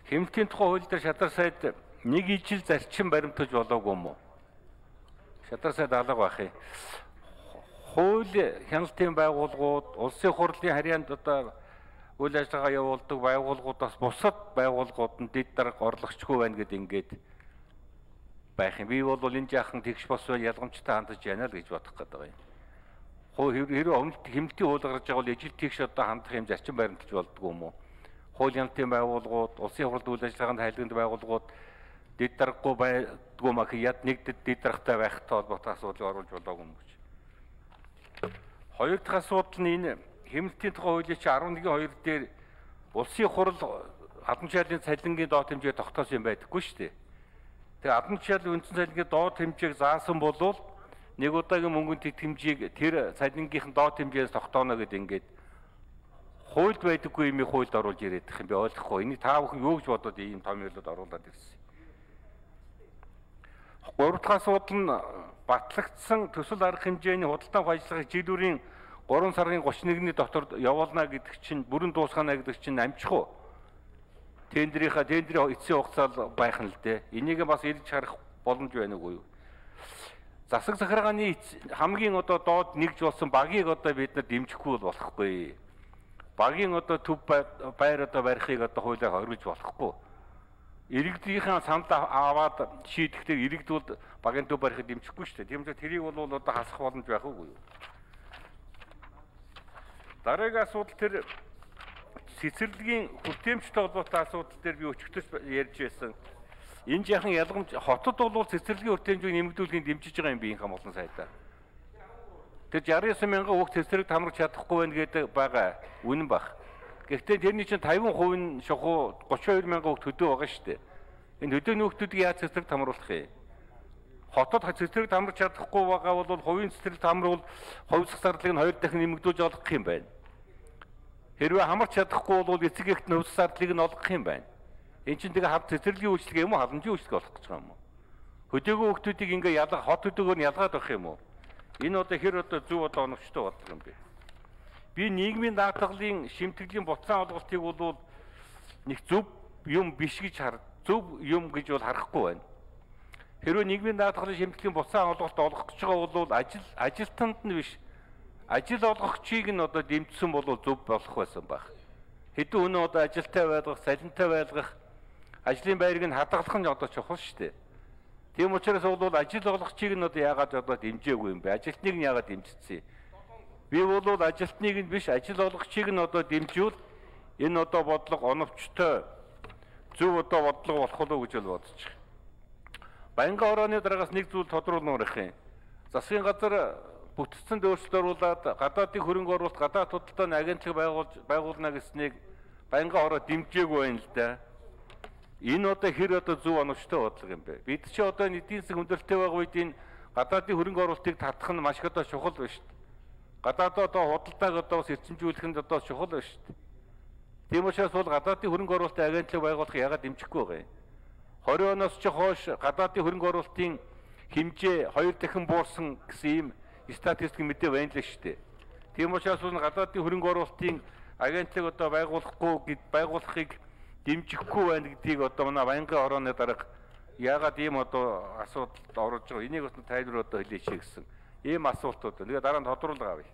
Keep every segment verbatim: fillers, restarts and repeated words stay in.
Хэмнэлтийн тухай хууль дээр шадар сайд нэг ижил зарчим баримтуулж болоогүй юм уу? Шадар сайд алга байх юм. Хууль хяналтын байгууллагууд, улсын хурлын харьяанд одоо үйл ажиллагаа явуулдаг байгууллагуудаас бусад байгууллагууд нь дэд дарга орлогчгүй байна гэдэг ингээд байх юм. Би бол энэ жаахан тэгш бос байл ялгамжтай хандаж яана л гэж бодох гэдэг юм. Хууль хэрэг хэмнэлтийн хууль гаргаж байгаа бол ижил тэгш одоо хандах юм зарчим баримтуулж болдгоо юм уу? Хууль хяналтын байгууллагууд, улсын хурлын үйл ажиллагаанд хайлтганд байгууллагууд дэд даргагүй байдгүй мах яд нэг дэд даргатай байхтай холбоотой асуудлыг оруулж болоогүй юм гэж. Хоёр дахь асуудал нь энэ хэмнэлтийн тухай хуулийн чинь арван нэгэн хоёр дээр улсын хурл албан тушаалын цалингийн доод хэмжээ тогтоосон юм байдаггүй шүү дээ. Тэгээ албан тушаалын үндсэн цалингийн доод хэмжээг заасан болвол нэг удаагийн мөнгөнд тэт хэмжээг тэр цалингийнх нь доод хэмжээс тогтооно гэдэг ингээд хуульд байдаггүй юм хуульд оруулж ирээд их юм би ойлгохгүй. Энийг та бүхэн юу гэж бодоод ийм том юмлууд оруулаад ирсэн. Гурав дахь асуудал нь батлагдсан төсөл арга хэмжээний худалдан ажиллагыг жилүүрийн гурван сарын гуравч нэгний дотор явуулна гэдэг чинь бүрэн дуусгана гэдэг чинь амжих уу? Тендерийнхаа тендерийн эцсийн хугацаа байх нь л дээ. Энийг бас ирж харах боломж байна уу юу? Засаг захиргааны хамгийн одоо доод нэгж болсон багийг одоо бид нар дэмжихгүй бол болохгүй. Багийн одоо төв байр одоо барихыг одоо хуулиар хоригдж болохгүй. Иргэдийнхээ санд аваад шийдэхдээ иргэдүүд багийн төв барихыг дэмжихгүй шүү дээ. Тийм учраас тэрийг бол одоо хасах боломж байх уу? Дараагийн асуудал тэр цэцэрлэгийн хүртээмжтэй холбоотой асуудал дээр би өчигдөж ярьж байсан. Энэ жаахан ялгамж хотод бол цэцэрлэгийн хүртээмжийг нэмэгдүүлэхийг дэмжиж байгаа юм би энэ хамгаалсан сайдаа. Тэр шестьдесят девять мянган хүүхд цэцэрлэг хамрах чадахгүй байна гэдэг байгаа үнэн баг. Гэхдээ тэрний чинь пятьдесят процент нь шохуу тридцать two мянган хүүхд төдөө байгаа шүү дээ. Энэ төдөөний хүүхдүүдийг яаж цэцэрлэгт хамруулах юм? Хотод цэцэрлэгт хамрах чадахгүй байгаа бол хувийн цэцэрлэгт хамруул хувьсах зардлыг нь хоёр дахин нэмэгдүүлж олгох юм байна. Хэрвээ хамарч чадахгүй бол эцэг эхт нь хувьсах зардлыг нь олгох юм байна. Энд чинь тэгээ хав цэцэрлэгийн үйлчлэг юм уу халамжийн үйлчлэг болох гэж байгаа юм уу? Хөдөөгүй хүүхдүүдийг ингээ ялга хот хөдөөгөөр нь ялгаад байх юм уу? Энэ одоо хэр одоо зөв одоо оновчтой бодлого юм бэ? Би нийгмийн даатгалын шимтгэлийн буцаан олголтыг бол нэг зөв юм биш гэж хар зөв юм гэж бол харахгүй байна. Хэрвээ нийгмийн даатгалын шимтгэлийн буцаан олголт олгох гэж байгаа бол ажил ажилтнанд нь биш ажил олгогчийг нь одоо дэмжсэн бол зөв болох байсан байх. Хэдэн өнөө одоо ажилтай байлгах, салентай байлгах, ажлын байрыг нь хадгалах нь одоо чухал шүү дээ. Тийм учраас бол ажил олгогчийг нь одоо яагаад одоо дэмжээгүй юм бэ? Ажилтныг нь яагаад дэмжицсэн? Би бол ажилтныг нь биш ажил олгогчийг нь одоо дэмжүүл энэ одоо бодлого оновчтой зөв одоо бодлого болох уу гэж бол бодож байна. Баянган орооны дараагаас нэг зүйл тодруулмаар их юм. Засгийн газар бүтцэн өөрчлөлт оруулаад гадаадын хөрөнгө оруулалт гадаад худалдааны агентлаг байгуулж байгуулна гэснийг Баянган ороо дэмжээгүй байна л да. Энэ одоо хэр одоо зөв оновчтой бодлого юм бэ? Бид чи одоо эдийн засаг хүндрэлтэй байгаа үед энэ гадаадын хөрөнгө оруулалтыг татах нь маш одоо чухал байна шүү дээ. Гадаад одоо худалдааг одоо бас эрчимжүүлэх нь одоо чухал байна шүү дээ. Тийм учраас бол гадаадын хөрөнгө оруулалтын агентлаг байгуулах яагаад дэмжихгүй байгаа юм? двадцать оноос ч хойш гадаадын хөрөнгө оруулалтын хэмжээ хоёр дахин буурсан гэсэн ийм статистик мэдээ байна л шүү дээ. Тийм учраас бол гадаадын хөрөнгө оруулалтын агентлаг одоо байгуулахгүй гэд байгуулахыг дэмжихгүй байна гэдгийг одоо манай Баянган орооны дарга яагаад ийм одоо асуудалд орж байгаа энийг бас тайлбар одоо хэлээч гэсэн ийм асуултууд. Тэгээ дараа нь тодруулга авъя.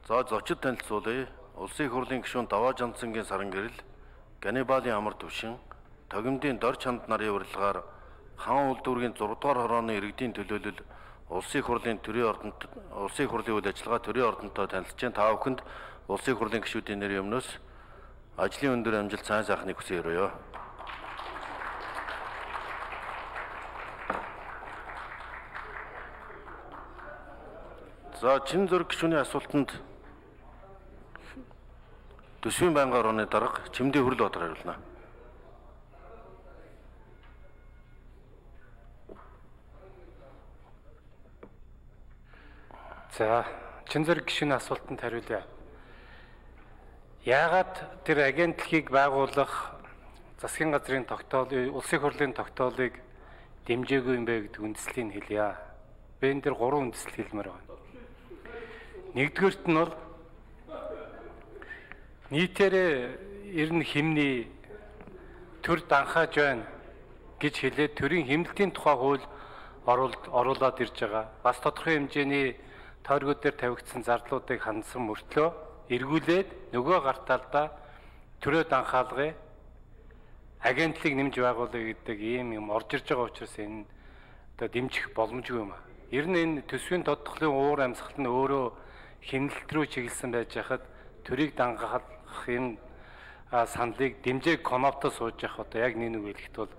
За зочид танилцуулъя. Улсын их хурлын гишүүн Даваа Жандсангийн саран гэрэл, Ганнибалын амар түвшин, Тогимдын Дор чанд нарын урилгаар хаан улдүргийн зураг дугаар хорооны иргэдийн төлөөлөл Улсын их хурлын төрийн ордонд Улсын их хурлын үйл ажиллагаа төрийн ордонтой танилцж та бүхэнд Улсын их хурлын гишүүдийн нэрийн өмнөөс ажлын өндөр амжилт сайн сайхныг хүсье өрөөё. За чин зөрг гишүүний асуултанд Төсвийн байнгын орооны дарга Чимдийн Хүрэл Баатар хариулна. За чин зөрг гишүүний асуултанд хариулъя. Яагаад тэр агентлагийг байгуулах засгийн газрын тогтоолыг, улсын хурлын тогтоолыг дэмжээгүй юм бэ гэдэг үндслийг хэлье. Би энэ дэр гурван үндслэл хэлмээр байна. Нэгдүгээрт нь бол нийтээрээ ер нь хэмний төр данхааж байна гэж хэлээд төрийн хэмнэлтийн тухай хууль оруулаад ирж байгаа. Бас тодорхой хэмжээний тойргууд дээр тавигдсан зардлуудыг хандсан мөртлөө эргүүлээд нөгөө гартаалдаа төрөө данхаалгыг агентлыг нэмж байгуулъя гэдэг ийм юм орж ирж байгаа учраас энэ одоо дэмжих боломжгүй юм аа. Ер нь энэ төсвийн тодтголын уур амьсгал нь өөрөө хэмнэлт рүү чиглэсэн байж хахад төрийг дангаах энэ саналыг дэмжээг конопто сууж явах одоо яг нэг нэг хэлэхэд бол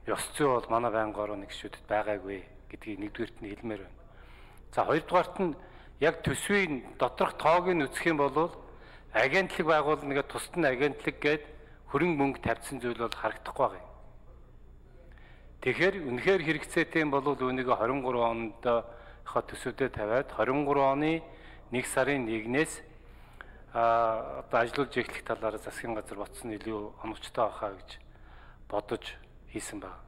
ёс зүй бол манай байнгын орон нэгшүүдэд байгаагүй гэдгийг нэгдүгээрт нь хэлмээр байна. За хоёрдугаарт нь яг төсвийн доторх тоог нь үзэх юм бол агентлаг байгуулна гэдэг тусад нь агентлаг гээд хөрөнгө мөнгө тавьсан зүйл бол харагдахгүй байгаа юм. Тэгэхээр үнэхээр хэрэгцээтэй юм бол үүнийг двадцать три онд хаа төсөвдөө тавиад двадцать три оны нэг сарын нэгнээс а одоо ажиллаж эхлэх талаар засгийн газар ботсон илүү оновчтой байхаа гэж бодож хийсэн байна.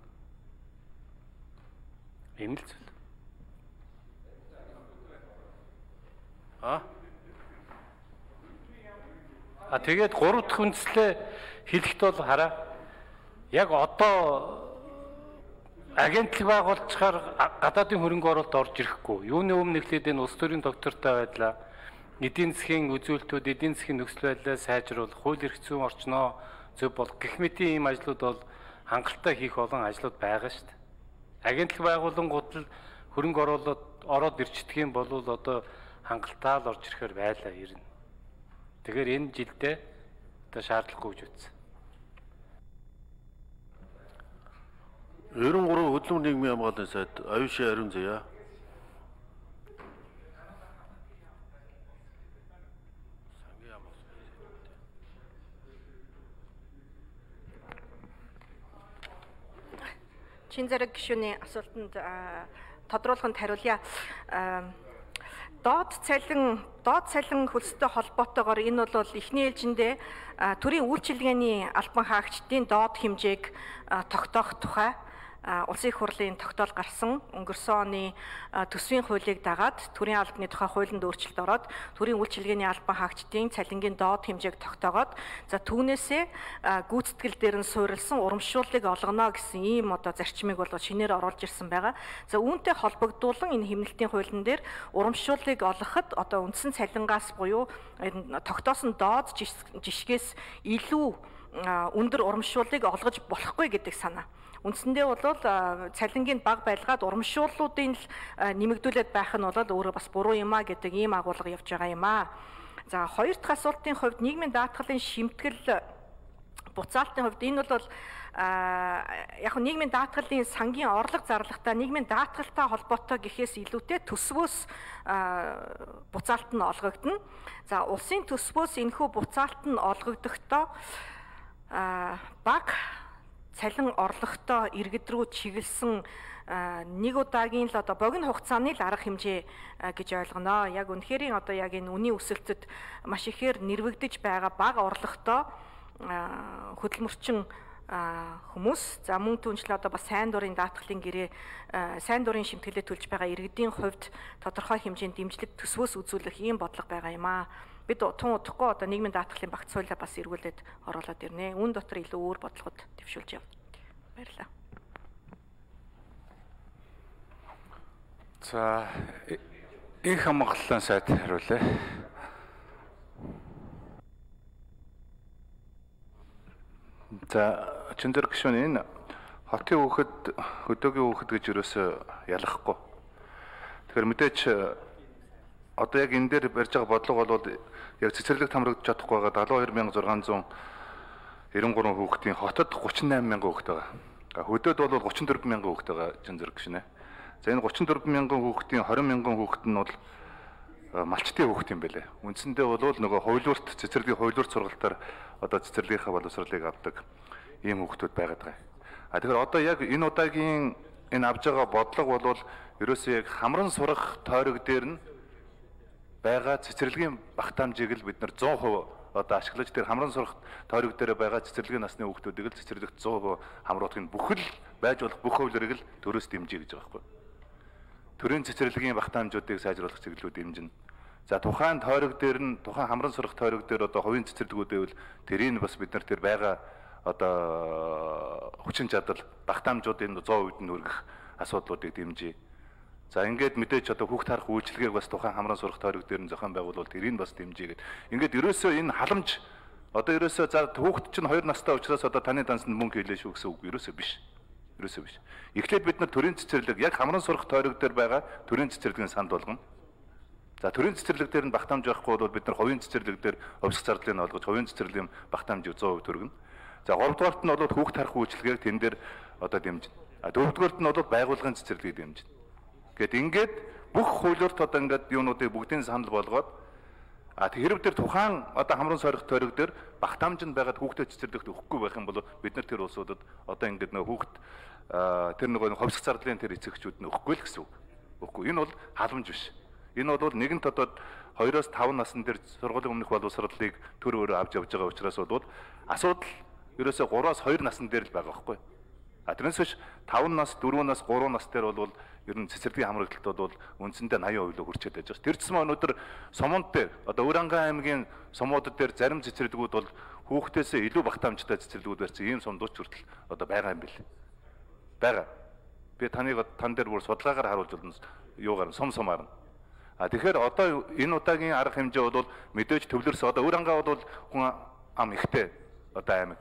Ийм л зүйл. А? А тэгээд гурав дахь үндслээ хэлэхэд бол хараа яг одоо агентлаг байгуулчихаар гадаадын хөрөнгө оруулалт орж ирэхгүй. Юуны өмнө нэглээд энэ улс төрийн доктортой байдлаа эдийн засгийн үзүүлэлтүүд, эдийн засгийн нөхцөл байдлаа сайжруулах, хууль эрх зүйн орчноо зөв болох гэх мэтийн ийм ажлууд бол хангалттай хийх олон ажлууд байгаа шүү дээ. Агентлаг байгуулангууд л хөрөнгө оруулалт ороод ирчихдэг юм бол одоо хангалттай л орж ирэхээр байлаа ирнэ. Тэгэхээр энэ жилдээ одоо шаардлагагүй гэж үзсэн. девяносто три хөдөлмөр нийгмийн хамгааллын сайд Аюуши Ариун Заяа. Чин зэрэг гишүүний асуултанд тодруулаханд хариулъя. Доод цалин доод цалин хөлстэй холбоотойгоор энэ бол эхний ээлжиндээ төрийн үйлчилгээний албан хаагчдын доод хэмжээг тогтоох тухай улсын их хурлын тогтоол гарсан. Өнгөрсөн оны төсвийн хуулийг дагаад төрийн албаны тухай хуулинд өөрчлөлт ороод төрийн үйлчилгээний албан хаагчдын цалингийн доод хэмжээг тогтоогоод за түүнээсээ гүйцэтгэл дээр нь суурилсан урамшууллыг олгоно гэсэн ийм одоо зарчмыг бол шинээр оруулж ирсэн байгаа. За үүнтэй холбогдуулан энэ хэмнэлтийн хуулийн дээр урамшууллыг олгоход одоо үндсэн цалингаас буюу тогтоосон доод жишгээс илүү өндөр урамшууллыг олгож болохгүй гэдэг санаа. Үндсэндээ бол цалингийн бага байлгаад урамшууллуудын л нэмэгдүүлээд байх нь бол өөрөө бас буруу юм а гэдэг ийм агуулга явж байгаа юм а. За хоёр дахь асуултын хувьд нийгмийн даатгалын шимтгэл буцаалтын хувьд энэ бол яг нь нийгмийн даатгалын сангийн орлого зарлагтай нийгмийн даатгалтай холбоотой гэхээс илүүтэй төсвөөс буцаалт нь олгогдно. За улсын төсвөөс энэхүү буцаалт нь олгогдохдоо баг цалин орлоготой иргэд рүү чиглэсэн нэг удаагийн л одоо богино хугацааны л арга хэмжээ гэж ойлгоно. Яг үнэхэрийн одоо яг энэ үнийн өсөлтөд маш ихээр нэрвэгдэж байгаа бага орлоготой хөдөлмөрчин хүмүүс за мөн түнчлээ одоо бас сайн дурын даатгалын гэрээ сайн дурын шимтгэлээ төлж байгаа иргэдийн хувьд тодорхой хэмжээнд дэмжлэг төсвөөс үзүүлэх ийм бодлого байгаа юм аа. Бид тун удахгүй одоо нийгмийн даатгалын багц хуулиа бас эргүүлээд оруулаад ирнэ. Үүн дотор илүү өөр бодлогод дэвшүүлж явна. Баярлалаа. За их хамгааллын сайд хариулъя. За чин зэрэг гишүүн энэ хотын хүүхэд хөдөөгийн хүүхэд гэж юусоо ялахгүй. Тэгэхээр мэдээч одоо яг энэ дээр барьж байгаа бодлого бол яг цэцэрлэг хамрагдаж чадахгүй байгаа дагалуу хоёр мянга зургаан зуун девяносто три хүүхдийн хотод гучин найман мянган хүүхэд байгаа. Хөдөөд бол гучин дөрвөн мянган хүүхэд байгаа чин зэрэг гişнэ. За энэ гучин дөрвөн мянган хүүхдийн двадцать мянган хүүхэд нь бол малчтын хүүхэд юм байлээ. Үндсэндээ бол нөгөө хуулиурт цэцэрлэгийн хуулиурт сургалтаар одоо цэцэрлэгийнхаа боловсролыг авдаг ийм хүүхдүүд байгаад байгаа. А тэгэхээр одоо яг энэ удаагийн энэ авж байгаа бодлого бол ерөөсөө яг хамран сурах тойрог дээр нь байгаа цэцэрлэгийн багтаамжийг л бид нар сто процент одоо ашиглаж тэр хамран сурах тойрог дээр байгаа цэцэрлэгийн насны хүүхдүүдийг л цэцэрлэгт сто процент хамруулахын бүхэл байж болох бүх хуулиарыг л төрөөс дэмжиж гэж байгаа байхгүй. Төрийн цэцэрлэгийн багтаамжуудыг сайжруулах чиглэлүүд дэмжинэ. За тухайн тойрог дээр нь тухайн хамран сурах тойрог дээр одоо хувийн цэцэрлэгүүд байвал тэрийг бас бид нар тэр байгаа одоо хүчин чадал багтаамжуудын сто хувьд нь хүргэх асуудлуудыг дэмжиж. За ингээд мэдээж одоо хүүхд харах үйлчилгээг бас тухайн хамран сурах тойрог дээр нь зохион байгуулвал тэрийг бас дэмжиж. Ингээд ерөөсөө энэ халамж одоо ерөөсөө за хүүхд чинь хоёр настай учраас одоо таны дансанд мөнгө хийлээ шүү гэсэн үг ерөөсөө биш. Ерөөсөө биш. Эхлээд бид нар төрийн цэцэрлэг яг хамран сурах тойрог дээр байгаа төрийн цэцэрлэгийн санд болгоно. За төрийн цэцэрлэг дээр нь багтаамж байхгүй бол бид нар хувийн цэцэрлэг дээр хувьсах зардлыг олгож хувийн цэцэрлэгийн багтаамжийг сто хувь төргөнө. За гуравдугаарт нь бол хүүхд харах үйлчилгээг тэн дээр одоо дэмжинэ. А дөрөвдүгээрт нь бол байгууллагын цэцэрлэгийг дэмжинэ. Гэт ингээд бүх хуулиурт одоо ингээд юунуудыг бүгдийн санал болгоод а хэрэг дээр тухайн одоо хамран сорих тойрог дээр багтаамж нь байгаад хүүхдэд цэцэрлэгт өгөхгүй байх юм бол бид нар тэр улсуудад одоо ингээд нөө хүүхд тэр нөгөө хувьсах зардлын тэр эцэгчүүд нь өгөхгүй л гэсэн үг. Өгөхгүй. Энэ бол халамж биш. Энэ бол нэгэнт одоо хоёроос таван насны дээр сургуулийн өмнөх боловсролыг төр өөрөө авч явж байгаа учраас бол асуудал ерөөсөө гураас хоёр насны дээр л байгаа байхгүй. А тэрнээс биш таван нас, дөрвөн нас, гурван нас дээр бол ер нь цэцэрлэгийн хамрагдлалт бол үндсэндээ восемь хувь л хүрчээд байж байгаа. Тэр ч юм өнөөдөр Сомонд дээр одоо Өранган аймгийн сомуудад дээр зарим цэцэрлэгүүд бол хүүхдээсээ илүү багтаамжтай цэцэрлэгүүд барьсан ийм сомдууч хүртэл одоо байгаа юм бэл. Бага. Би таныг тан дээр бүр судалгаагаар харуулж болно. Юугаар сом сомаар. А тэгэхээр одоо энэ удаагийн арга хэмжээ бол мэдээж төвлөрс одоо Өранган бол хүн ам ихтэй одоо аймаг.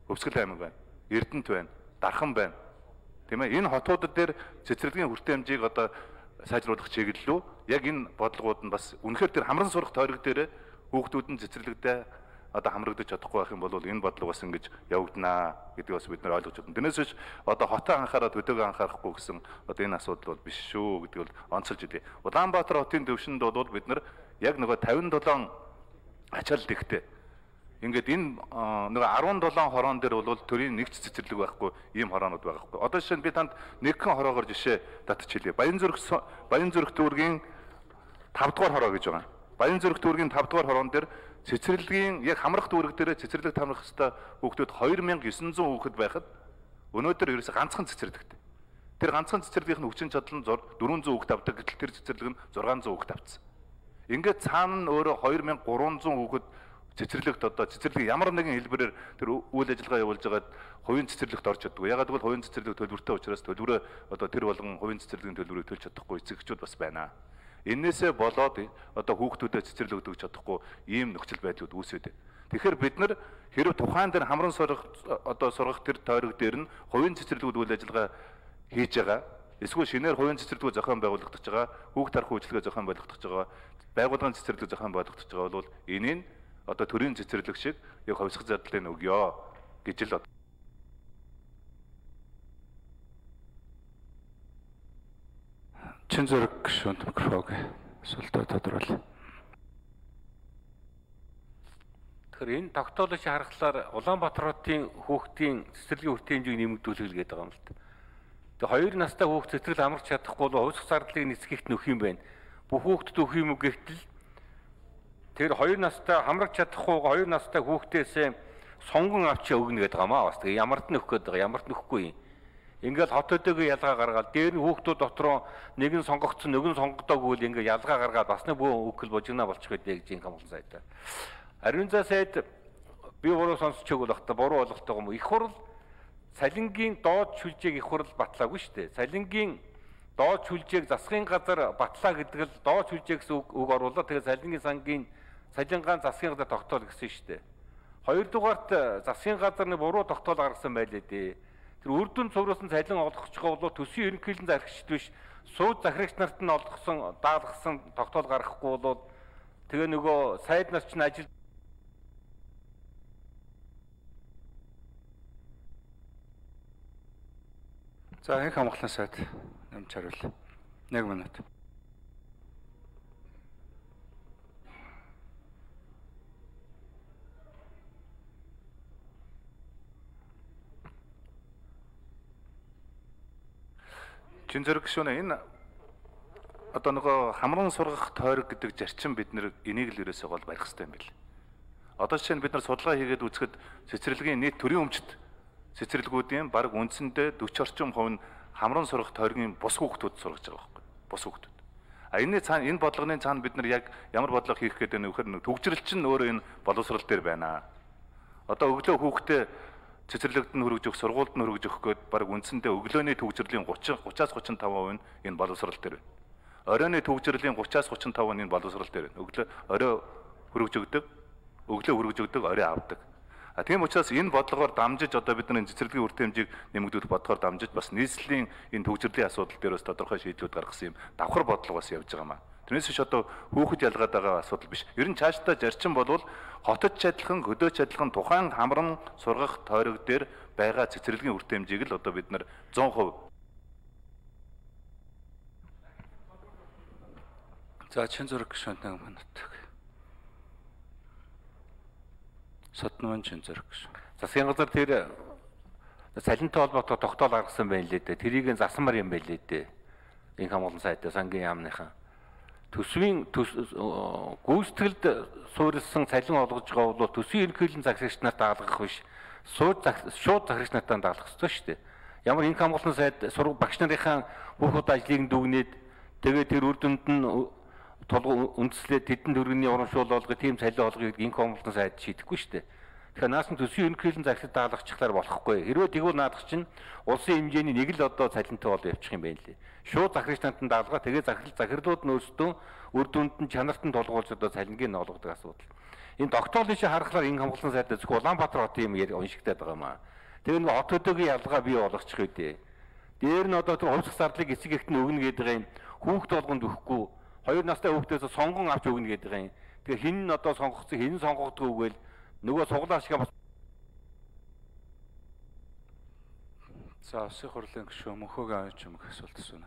Өвсгөл аймаг байна. Эрдэнэт байна. Дархан байна. Тийм ээ энэ хотуудад дээр цэцэрлэгийн хүртээмжийг одоо сайжруулах чиглэлөө яг энэ бодлогууд нь бас үнэхээр тэр хамран сурах тойрог дээр хүүхдүүд нь цэцэрлэгдээ одоо хамрагдаж чадахгүй байх юм бол энэ бодлого бас ингэж явагдана гэдгийг бас бид нар ойлгож байна. Тэрнээс биш одоо хотоо анхаарал төдөөг анхаарахгүй гэсэн одоо энэ асуудал бол биш шүү гэдгийг бол онцолж илээ. Улаанбаатар хотын төвшөнд бол бид нар яг нөгөө тавин долоон ачаал дэгтэй ингээд энэ нөгөө арван долоон хороон дээр бол төрийн нэг ч цэцэрлэг байхгүй ийм хороонууд байгаа байхгүй. Одоо жишээ нь би танд нэгэн хороогоор жишээ татж хэлье. Баянзүрх Баянзүрх дүүргийн тав дугаар хороо гэж байгаа. Баянзүрх дүүргийн тав дугаар хороон дээр цэцэрлэгийн яг хамрах дүүрэг дээр цэцэрлэг тамрах хэвээр хүүхдүүд хоёр мянга девять жүз хүүхэд байхад өнөөдөр ерөөсө ганцхан цэцэрлэгтэй. Тэр ганцхан цэцэрлэгийнх нь хүчин чадал нь дөрвөн зуун хүүхэд авдаг гэтэл тэр цэцэрлэг нь зургаан зуун хүүхэд авцсан. Ингээд цаана нь өөрөө хоёр мянга гурван зуун хүүхэд цэцэрлэгт одоо цэцэрлэг ямар нэгэн хэлбэрээр тэр үйл ажиллагаа явуулж байгаад хувийн цэцэрлэгт орж чаддаг. Ягаад гэвэл хувийн цэцэрлэг төлбөртэй учраас төлбөрөө одоо тэр болгон хувийн цэцэрлэгийн төлбөрийг төлж чадахгүй эцэгчүүд бас байна. Эннээсээ болоод одоо хүүхдүүдэд цэцэрлэг өгч чадахгүй ийм нөхцөл байдлууд үүсээд байна. Тэгэхээр бид нар хэрэг тухайн дээр хамран сурах одоо сургах тэр тойрог дээр нь хувийн цэцэрлэгүүд үйл ажиллагаа хийж байгаа. Эсвэл шинээр хувийн цэцэрлэгүүд зохион байгуулагдаж байгаа, хүүхд харах үйлчилгээ зохион байгуулагдаж байгаа, байгууллагын цэцэрлэг зохион байгуулагдаж байгаа бол энийг одоо төрийн цэцэрлэг шиг яг хувьсах зардлыг өгье гэж л чин зэрэг гүшүүнд микрофон асуултаа тодруулъя. Тэгэхээр энэ тогтоолыг харахаар Улаанбаатар хотын хүүхдийн цэцэрлэгийн хүртээмжийг нэмэгдүүлэх гээд байгаа юм л та. Тэгээ хоёр настай хүүхд цэцэрлэг амарч чадахгүй бол хувьсах зардлыг нисгийгт нөх юм байна. Бүх хүүхдэд өгөх юм уу гэтэл тэр хоёр настай хамрагч чадахгүй хоёр настай хүүхдээсээ сонгон авч өгнө гэдэг гамаа бас тэгээ ямард нь өгөх гээд байгаа ямард нь өгөхгүй юм. Ингээл хот өдөөгөө ялгаа гаргаад дээр нь хүүхдүүд дотроо нэг нь сонгогдсон нэг нь сонгогдоогүй л ингээ ялгаа гаргаад бас нэг бүх өгөл божигнаа болчих гэдэг юм хамгаалсан сайдаа. Ариун заа сайд би буруу сонсч өгөл бахта буруу болгохтой юм. Их хурл салингийн доод шүлжээг их хурл батлаагүй шүү дээ. Салингийн доод шүлжээг засгийн газар батлаа гэдэг л доод шүлжээг гэсэн үг оруулаад тэгээ салингийн сангийн салингаан засгийн газар тогтоол гэсэн шүү дээ. Хоёрдугаарт засгийн газар нэг буруу тогтоол гаргасан байлээ дээ. Тэр үрдүн цувралсан цалин олгохчгаа бол төсвийн ерөнхийлөн зарагчд биш сууд захирагч нарт нь олгосон даалгасан тогтоол гаргахгүй бол тэгээ нөгөө сайд нар ч ажил За их хамгаалсан сайд нэмж хариул. нэг минут. Чин зэрэг гүшүүнэ энэ одоо нөгөө хамран сургах тойрог гэдэг зарчим бид нэр энийг л ерөөсөө гол барих хэрэгтэй юм байл. Одоо жишээ нь бид нар судалгаа хийгээд үзэхэд цэцэрлэгийн нийт төрийн өмчт цэцэрлэгүүдийн бараг үндсэндээ forty орчим хувь нь хамран сургах тойргийн бус хүүхдүүд сургаж байгаа байхгүй. Бус хүүхдүүд. А энэ цаана энэ бодлогын цаана бид нар яг ямар бодлого хийх гэдэг нь вөхөр төгжрөл чинь өөрөө энэ боловсрал дээр байна. Одоо өглөө хүүхдээ цэцэрлэгт нь хөргөж өгөх, сургуульд нь хөргөж өгөх гээд баг үндсэндээ өглөөний төгжрлийн тридцать тридцаас тридцать и пять % энэ боловсрал дээр байна. Оройны төгжрлийн тридцать-аас тридцать и пять % энэ боловсрал дээр байна. Өглөө орой хөргөж өгдөг, өглөө хөргөж өгдөг, орой авдаг. А тийм учраас энэ бодлогоор дамжиж одоо бидний цэцэрлэгийн үр хэмжээг нэмэгдүүлэх бодохоор дамжиж бас нийслэлийн энэ төгжрлийн асуудал дээр бас тодорхой шийдлүүд гаргасан юм давхар бодлого бас явж байгаа маа. Тэрнээс биш одоо хүүхэд ялгаад байгаа асуудал биш. Ер нь цаашдаа зарчим болвол хотод ч адилхан, хөдөөч адилхан тухайн хамран сургах тойрог дээр байгаа цэцэрлэгийн үр хэмжээг л одоо бид нар one hundred percent. За чин зураг гишүүн нэг минут. Соднон чин зураг гишүүн. Засгийн газар тэр цалинтай холбоотой тогтоол гаргасан байна лээ дээ. Тэрийг засамар юм байлээ дээ. Инх хамгаалсан сайдаа сангийн яамныхан. Төсвийн гүйцэтгэлд суурилсан цалин олгож байгаа бол төсвийн ерөнхийлөн загсагч нарт даалгах биш. Шууд шууд загсагч нартаа даалгах ёстой шүү дээ. Ямар инх хамгаалсан сайд сураг багш нарын хүүхд ажлыг дүгнээд тэгээд тэр үр дүнд нь толгой үндэслээд тэдэнд өргөний урамшуул олгох тийм цалин олгоё гэдэг инх хамгаалсан сайд шийдэхгүй шүү дээ. Тэгэхээр наасан төсвийн ерөнхийлөн загсагчд даалгахчлаар болохгүй. Хэрвээ тэгвэл наадах чинь улсын хэмжээний нэг л одоо цалинтай бол явчих юм байна лээ. Шууд захирагч нартанд даалгаа тэгээ захирал захирлууд нь өөрсдөө үр дүнд нь чанарт нь толгуулж одоо цалингийг нь олгодог асуудал. Энэ тогтоолын шиг харахаар инх хамгаалсан сайдаа зөвхөн Улаанбаатар хотын юм уншигдаад байгаа маа. Тэгээ нэг хот төдөөгийн ялгаа бий болгочих үү. Дээр нь одоо тэр хувьсах зардлыг эцэг эхт нь өгнө гэдэг юм. Хүүхд болгонд өгөхгүй. Хоёр настай хүүхдээс сонгон авч өгнө гэдэг юм. Тэгээ хин нь одоо сонгогдсон хин сонгогдгоо үгээл нөгөө суглаа шиг бас. За улсын хурлын гишүүн мөнхөгийн авч юм асуулт асууна.